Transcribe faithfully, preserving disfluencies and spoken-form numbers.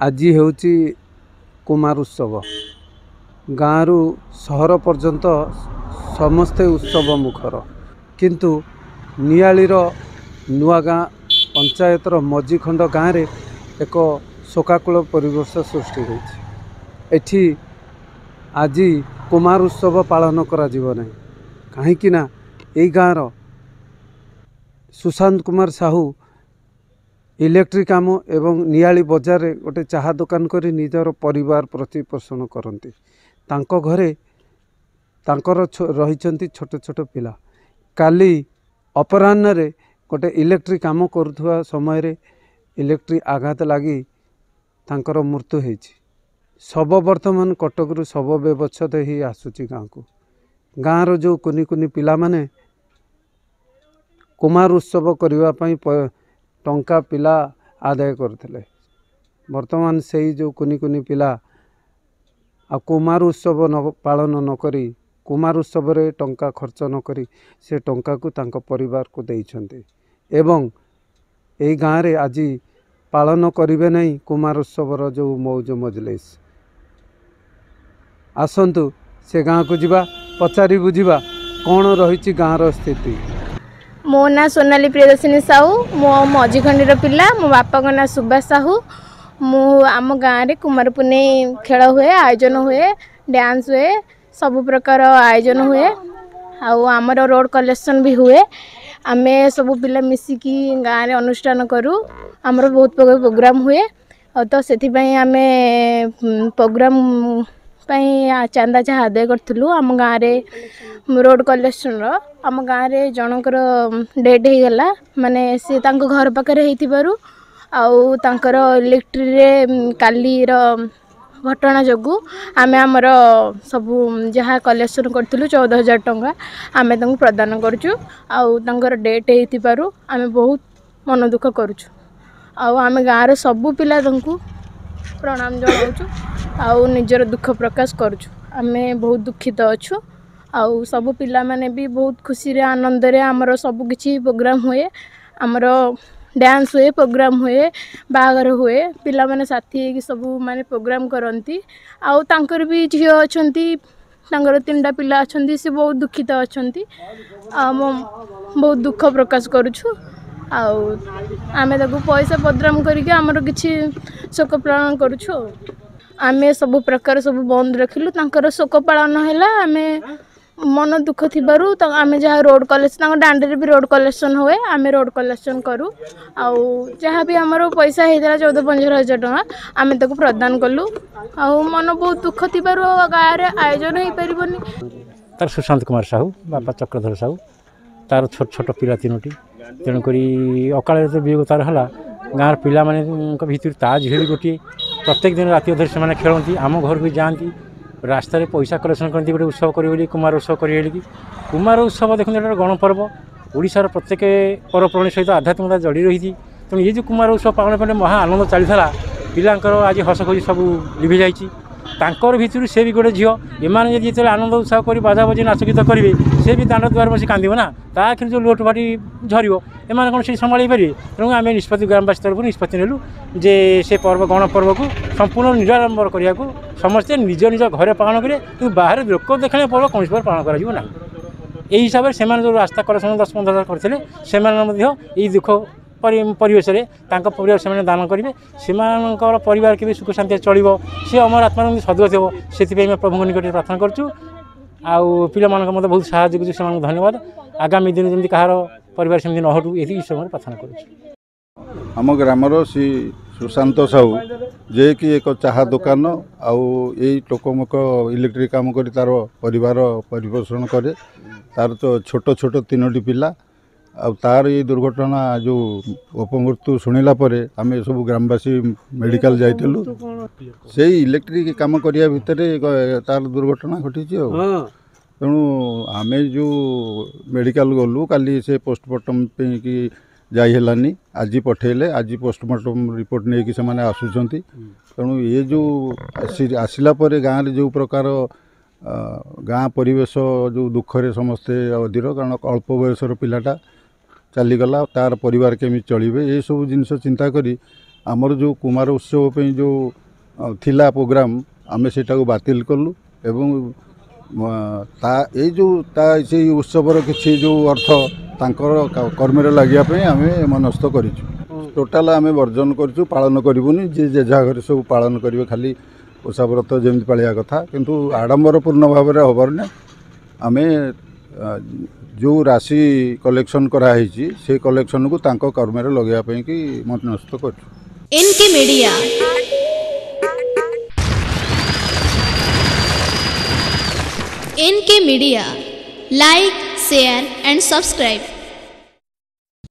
ଆଜି ହେଉଛି କୁମାର ଉତ୍ସବ। ଗାଁରୁ ସହର ପର୍ଯ୍ୟନ୍ତ ସମସ୍ତେ ଉତ୍ସବ ମୁଖର, କିନ୍ତୁ ନିଆଳିର ନୂଆଗାଁ ପଞ୍ଚାୟତର ମଝିଖଣ୍ଡ ଗାଁରେ ଏକ ଶୋକାକୁଳ ପରିବେଶ ସୃଷ୍ଟି ହୋଇଛି। ଏଠି ଆଜି କୁମାର ଉତ୍ସବ ପାଳନ କରାଯିବ ନାହିଁ, କାହିଁକି ନା ଏଇ ଗାଁର ସୁଶାନ୍ତ କୁମାର ସାହୁ ଇଲେକ୍ଟ୍ରିକ୍ କାମ ଏବଂ ନିଆଳି ବଜାରରେ ଗୋଟେ ଚାହା ଦୋକାନ କରି ନିଜର ପରିବାର ପ୍ରତିପୋଷଣ କରନ୍ତି। ତାଙ୍କ ଘରେ ତାଙ୍କର ରହିଛନ୍ତି ଛୋଟ ଛୋଟ ପିଲା। କାଲି ଅପରାହ୍ନରେ ଗୋଟେ ଇଲେକ୍ଟ୍ରିକ୍ କାମ କରୁଥିବା ସମୟରେ ଇଲେକ୍ଟ୍ରିକ୍ ଆଘାତ ଲାଗି ତାଙ୍କର ମୃତ୍ୟୁ ହେଇଛି। ଶବ ବର୍ତ୍ତମାନ କଟକରୁ ଶବ ବ୍ୟବଚ୍ଛେଦ ହେଇ ଆସୁଛି ଗାଁକୁ। ଗାଁର ଯେଉଁ କୁନି କୁନି ପିଲାମାନେ କୁମାର ଉତ୍ସବ କରିବା ପାଇଁ ଟଙ୍କା ପିଲା ଆଦାୟ କରୁଥିଲେ, ବର୍ତ୍ତମାନ ସେଇ ଯେଉଁ କୁନି କୁନି ପିଲା ଆଉ କୁମାର ଉତ୍ସବ ନ ପାଳନ ନକରି, କୁମାର ଉତ୍ସବରେ ଟଙ୍କା ଖର୍ଚ୍ଚ ନକରି ସେ ଟଙ୍କାକୁ ତାଙ୍କ ପରିବାରକୁ ଦେଇଛନ୍ତି ଏବଂ ଏଇ ଗାଁରେ ଆଜି ପାଳନ କରିବେ ନାହିଁ କୁମାର ଉତ୍ସବର ଯେଉଁ ମଉଜ ମଜଲିସ୍। ଆସନ୍ତୁ ସେ ଗାଁକୁ ଯିବା, ପଚାରି ବୁଝିବା କ'ଣ ରହିଛି ଗାଁର ସ୍ଥିତି। ମୋ ନାଁ ସୋନାଲି ପ୍ରିୟଦର୍ଶିନୀ ସାହୁ, ମୁଁ ମଝିଖଣ୍ଡିର ପିଲା। ମୋ ବାପାଙ୍କ ନାଁ ସୁବାସ ସାହୁ। ମୁଁ ଆମ ଗାଁରେ କୁମାର ପୁନେଇ ଖେଳ ହୁଏ, ଆୟୋଜନ ହୁଏ, ଡ୍ୟାନ୍ସ ହୁଏ, ସବୁ ପ୍ରକାର ଆୟୋଜନ ହୁଏ ଆଉ ଆମର ରୋଡ଼ କଲେକ୍ସନ୍ ବି ହୁଏ। ଆମେ ସବୁ ପିଲା ମିଶିକି ଗାଁରେ ଅନୁଷ୍ଠାନ କରୁ। ଆମର ବହୁତ ପ୍ରକାର ପ୍ରୋଗ୍ରାମ୍ ହୁଏ, ଆଉ ତ ସେଥିପାଇଁ ଆମେ ପ୍ରୋଗ୍ରାମ୍ ପାଇଁ ଚାନ୍ଦା ଯାହା ଆଦାୟ କରିଥିଲୁ ଆମ ଗାଁରେ ରୋଡ଼ କଲେକ୍ସନ୍ର। ଆମ ଗାଁରେ ଜଣଙ୍କର ଡେଥ୍ ହେଇଗଲା, ମାନେ ସେ ତାଙ୍କ ଘର ପାଖରେ ହେଇଥିବାରୁ ଆଉ ତାଙ୍କର ଇଲେକ୍ଟ୍ରିରେ କାଲିର ଘଟଣା ଯୋଗୁଁ ଆମେ ଆମର ସବୁ ଯାହା କଲେକ୍ସନ୍ କରିଥିଲୁ ଚଉଦ ହଜାର ଟଙ୍କା ଆମେ ତାଙ୍କୁ ପ୍ରଦାନ କରୁଛୁ। ଆଉ ତାଙ୍କର ଡେଥ୍ ହେଇଥିବାରୁ ଆମେ ବହୁତ ମନ ଦୁଃଖ କରୁଛୁ ଆଉ ଆମେ ଗାଁର ସବୁ ପିଲା ତାଙ୍କୁ ପ୍ରଣାମ ଜଣାଉଛୁ ଆଉ ନିଜର ଦୁଃଖ ପ୍ରକାଶ କରୁଛୁ। ଆମେ ବହୁତ ଦୁଃଖିତ ଅଛୁ ଆଉ ସବୁ ପିଲାମାନେ ବି ବହୁତ ଖୁସିରେ ଆନନ୍ଦରେ ଆମର ସବୁ କିଛି ପ୍ରୋଗ୍ରାମ୍ ହୁଏ। ଆମର ଡ୍ୟାନ୍ସ ହୁଏ, ପ୍ରୋଗ୍ରାମ୍ ହୁଏ, ବାହାଘର ହୁଏ, ପିଲାମାନେ ସାଥି ହେଇକି ସବୁ ମାନେ ପ୍ରୋଗ୍ରାମ୍ କରନ୍ତି। ଆଉ ତାଙ୍କର ବି ଝିଅ ଅଛନ୍ତି, ତାଙ୍କର ତିନିଟା ପିଲା ଅଛନ୍ତି, ସେ ବହୁତ ଦୁଃଖିତ ଅଛନ୍ତି। ଆଉ ବହୁତ ଦୁଃଖ ପ୍ରକାଶ କରୁଛୁ ଆଉ ଆମେ ତାକୁ ପଇସା ବଦନାମ କରିକି ଆମର କିଛି ଶୋକ ପାଳନ କରୁଛୁ। ଆଉ ଆମେ ସବୁ ପ୍ରକାର ସବୁ ବନ୍ଦ ରଖିଲୁ। ତାଙ୍କର ଶୋକ ପାଳନ ହେଲା, ଆମେ ମନ ଦୁଃଖ ଥିବାରୁ ଆମେ ଯାହା ରୋଡ଼ କଲେକ୍ସନ୍, ତାଙ୍କ ଦାଣ୍ଡରେ ବି ରୋଡ଼ କଲେକ୍ସନ୍ ହୁଏ, ଆମେ ରୋଡ଼ କଲେକ୍ସନ୍ କରୁ। ଆଉ ଯାହା ବି ଆମର ପଇସା ହେଇଥିଲା ଚଉଦ ପନ୍ଦର ହଜାର ଟଙ୍କା ଆମେ ତାକୁ ପ୍ରଦାନ କଲୁ। ଆଉ ମନ ବହୁତ ଦୁଃଖ ଥିବାରୁ ଗାଁରେ ଆୟୋଜନ ହେଇପାରିବନି। ତାର ସୁଶାନ୍ତ କୁମାର ସାହୁ, ବାପା ଚକ୍ରଧର ସାହୁ, ତାର ଛୋଟ ଛୋଟ ପିଲା ତିନୋଟି। ତେଣୁକରି ଅକାଳରେ ତ ବିୟୋଗ ତାର ହେଲା। ଗାଁର ପିଲାମାନଙ୍କ ଭିତରୁ ତା ଝିଅ ବି ଗୋଟିଏ। ପ୍ରତ୍ୟେକ ଦିନ ରାତି ଅଧରେ ସେମାନେ ଖେଳନ୍ତି, ଆମ ଘରକୁ ବି ଯାଆନ୍ତି, ରାସ୍ତାରେ ପଇସା କଲେକ୍ସନ୍ କରନ୍ତି ଗୋଟେ ଉତ୍ସବ କରିବେ ବୋଲି, କୁମାର ଉତ୍ସବ କରିବେ ବୋଲିକି। କୁମାର ଉତ୍ସବ ଦେଖନ୍ତୁ, ଏଇଟା ଗୋଟେ ଗଣପର୍ବ। ଓଡ଼ିଶାର ପ୍ରତ୍ୟେକ ପର୍ବପର୍ବାଣୀ ସହିତ ଆଧ୍ୟାତ୍ମିକତା ଜଡ଼ି ରହିଛି। ତେଣୁ ଏ ଯେଉଁ କୁମାର ଉତ୍ସବ ପାଳନ ପାଇଁ ମହା ଆନନ୍ଦ ଚାଲିଥିଲା, ପିଲାଙ୍କର ଆଜି ହସ ଖୁସି ସବୁ ଲିଭି ଯାଇଛି। ତାଙ୍କର ଭିତରୁ ସେ ବି ଗୋଟେ ଝିଅ। ଏମାନେ ଯଦି ଯେତେବେଳେ ଆନନ୍ଦ ଉତ୍ସାହ କରି ବାଜା ବଜେଇ ନାଚ ଗୀତ କରିବେ, ସେ ବି ଦାଣ୍ଡ ଦୁଆରେ ବସି କାନ୍ଦିବ ନା, ତା ଆଖିରୁ ଯେଉଁ ଲୁହ ଟୋପାଟି ଝରିବ, ଏମାନେ କ'ଣ ସେଠି ସମ୍ଭାଳି ପାରିବେ? ତେଣୁ ଆମେ ନିଷ୍ପତ୍ତି ଗ୍ରାମବାସୀ ତରଫରୁ ନିଷ୍ପତ୍ତି ନେଲୁ ଯେ ସେ ପର୍ବ ଗଣପର୍ବକୁ ସମ୍ପୂର୍ଣ୍ଣ ନିରାଡ଼ମ୍ବର କରିବାକୁ ସମସ୍ତେ ନିଜ ନିଜ ଘରେ ପାଳନ କରିବେ, କିନ୍ତୁ ବାହାରେ ଲୋକ ଦେଖାଣିଆ ପର୍ବ କୌଣସି ପ୍ରକାର ପାଳନ କରାଯିବ ନାହିଁ। ଏହି ହିସାବରେ ସେମାନେ ଯେଉଁ ରାସ୍ତା କଲେକ୍ସନ୍ ଦଶ ପନ୍ଦର ହଜାର କରିଥିଲେ, ସେମାନେ ମଧ୍ୟ ଏଇ ଦୁଃଖ ପରିବେଶରେ ତାଙ୍କ ପରିବାର ସେମାନେ ଦାନ କରିବେ। ସେମାନଙ୍କର ପରିବାର କେବେ ସୁଖ ଶାନ୍ତିରେ ଚଳିବ, ସେ ଅମର ଆତ୍ମାର ସଦ୍ଗତି ହେବ, ସେଥିପାଇଁ ଆମେ ପ୍ରଭୁଙ୍କ ନିକଟରେ ପ୍ରାର୍ଥନା କରୁଛୁ। ଆଉ ପିଲାମାନଙ୍କ ମଧ୍ୟ ବହୁତ ସାହାଯ୍ୟ କରୁଛୁ, ସେମାନଙ୍କୁ ଧନ୍ୟବାଦ। ଆଗାମୀ ଦିନ ଯେମିତି କାହାର ପରିବାର ସେମିତି ନ ହଟୁ, ଏତିକି ଈଶ୍ୱରଙ୍କର ପ୍ରାର୍ଥନା କରୁଛୁ। ଆମ ଗ୍ରାମର ଶ୍ରୀ ସୁଶାନ୍ତ ସାହୁ, ଯିଏକି ଏକ ଚାହା ଦୋକାନ ଆଉ ଏଇ ଟୋକମୋକ ଇଲେକ୍ଟ୍ରିକ୍ କାମ କରି ତା'ର ପରିବାର ପରିପୋଷଣ କରେ। ତା'ର ତ ଛୋଟ ଛୋଟ ତିନୋଟି ପିଲା। ଆଉ ତା'ର ଏଇ ଦୁର୍ଘଟଣା ଯେଉଁ ଅପମୃତ୍ୟୁ ଶୁଣିଲା ପରେ ଆମେ ସବୁ ଗ୍ରାମବାସୀ ମେଡ଼ିକାଲ ଯାଇଥିଲୁ। ସେଇ ଇଲେକ୍ଟ୍ରିକ୍ କାମ କରିବା ଭିତରେ ତା'ର ଦୁର୍ଘଟଣା ଘଟିଛି। ଆଉ ତେଣୁ ଆମେ ଯେଉଁ ମେଡ଼ିକାଲ ଗଲୁ କାଲି, ସେ ପୋଷ୍ଟମର୍ଟମ୍ ପାଇଁକି ଯାଇ ହେଲାନି, ଆଜି ପଠେଇଲେ। ଆଜି ପୋଷ୍ଟମର୍ଟମ୍ ରିପୋର୍ଟ ନେଇକି ସେମାନେ ଆସୁଛନ୍ତି। ତେଣୁ ଏ ଯେଉଁ ଆସିଲା ପରେ ଗାଁରେ ଯେଉଁ ପ୍ରକାର ଗାଁ ପରିବେଶ ଯେଉଁ ଦୁଃଖରେ ସମସ୍ତେ ଅଧୀର, କାରଣ ଅଳ୍ପ ବୟସର ପିଲାଟା ଚାଲିଗଲା, ତା'ର ପରିବାର କେମିତି ଚଳିବେ, ଏସବୁ ଜିନିଷ ଚିନ୍ତା କରି ଆମର ଯେଉଁ କୁମାର ଉତ୍ସବ ପାଇଁ ଯେଉଁ ଥିଲା ପ୍ରୋଗ୍ରାମ୍, ଆମେ ସେଇଟାକୁ ବାତିଲ କଲୁ ଏବଂ ତା ଏଇ ଯେଉଁ ତା ସେଇ ଉତ୍ସବର କିଛି ଯେଉଁ ଅର୍ଥ ତାଙ୍କର କର୍ମରେ ଲାଗିବା ପାଇଁ ଆମେ ମନସ୍ଥ କରିଛୁ। ଟୋଟାଲ ଆମେ ବର୍ଜନ କରିଛୁ, ପାଳନ କରିବୁନି। ଯିଏ ଯେଝା ଘରେ ସବୁ ପାଳନ କରିବେ, ଖାଲି ଓଷା ବ୍ରତ ଯେମିତି ପାଳିବା କଥା, କିନ୍ତୁ ଆଡ଼ମ୍ବରପୂର୍ଣ୍ଣ ଭାବରେ ହେବାର ନାହିଁ। ଆମେ ଯେଉଁ ରାଶି କଲେକ୍ସନ୍ କରାହେଇଛି, ସେ କଲେକ୍ସନ୍କୁ ତାଙ୍କ କର୍ମରେ ଲଗାଇବା ପାଇଁକି ମନସ୍ଥ କରିଛୁ। N K media, N K media, like, share and subscribe.